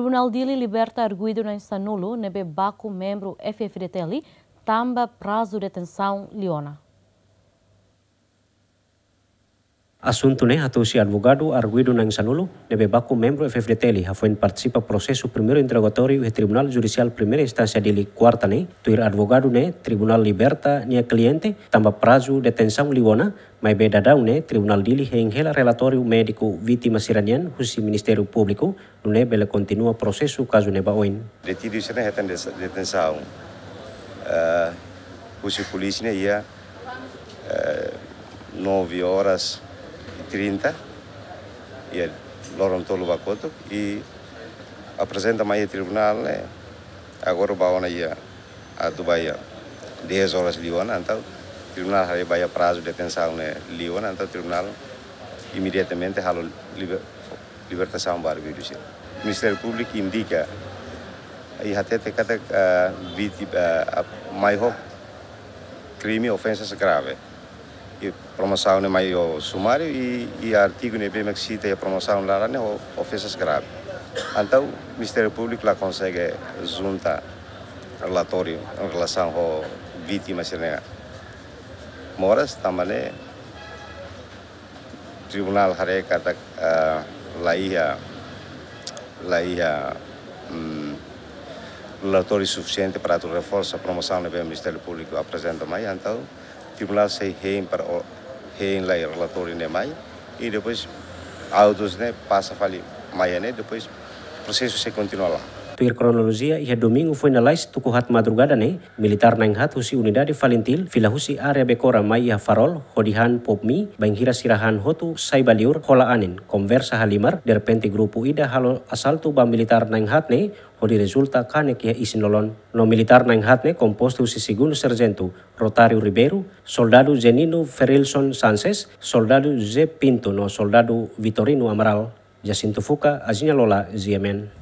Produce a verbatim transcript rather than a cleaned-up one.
Tribunál Dili liberta arguidu na'in sanulu ne'ebé baku membru F-FDTL tanba prazu detensaun liu ona. Asuntu ne'e hato'o husi advogadu arguidu na'in sanulu ne'ebé baku membru F-FDTL hafoin partisipa prosesu primeiru interrogatóriu iha Tribunál Judisiál Primeira Instánsia Dili, kuarta ne'e. Tuir advogadu ne'e, tribunál liberta nia kliente tanba prazu detensaun liu ona, maibé daudaun ne'e tribunál Dili hein hela relatóriu médiku vítima sira-nian husi Ministériu Públiku, nune'e bele kontinua prosesu kazu ne'e ba oin. Detidu sira-ne'e hetan des-, detensaun, eh, husi polísia ne'e iha, eh, nove horas e trinta, iha loron tolu ba kotuk, i aprezenta mai iha tribunál ne'e, agora ba ona iha atu ba iha dez horas liu ona, entaun tribunál haree ba iha prazu detensaun ne'e liu ona, entaun tribunál imediatamente halo liber-, libertasaun ba arguidu sira. Ministériu Públiku indika i hatete katak, ah, vítima, ah, mai ho krime ofensas grave. I promosaun ne'e mai ho sumáriu i, i artigu ne'ebé mak sita iha promosaun laran ne'e ho ofensas grave. Entaun Ministériu Públiku la konsege junta relatóriu em relasaun ho vítima sira-nia moras, tanba ne'e tribunál haree katak, ah, la iha, la iha, mm, relatóriu sufisiente para atu reforsa promosaun ne'ebé Ministériu Públiku aprezenta mai, entaun tribunál sei hein para o-, hein lai relatóriu ne'e mai, i depois autus ne'e pasa fali mai ne'e, depois prosesu sei kontinua lai. Tuir kronolojia, iha domingu foin lalais tuku haat madrugada ne'e, militár na'in-haat husi unidade FALINTIL fila husi área Becora mai iha Farol, hodi han POPMI, bainhira sira han hotu sai ba liur, hola anin, konversa halimar, derrepente grupu ida halo asaltu ba militár na'in-haat ne'e, hodi rezulta kanek iha isin-lolon. No militár na'in-haat ne'e kompostu husi segundu sarjentu Rotário Ribeiro, soldadu Zenino Ferilson Sanches, soldadu José Pinto no soldadu Vitorino Amaral. Jacinto Fuca, Azinha Lola, G M N.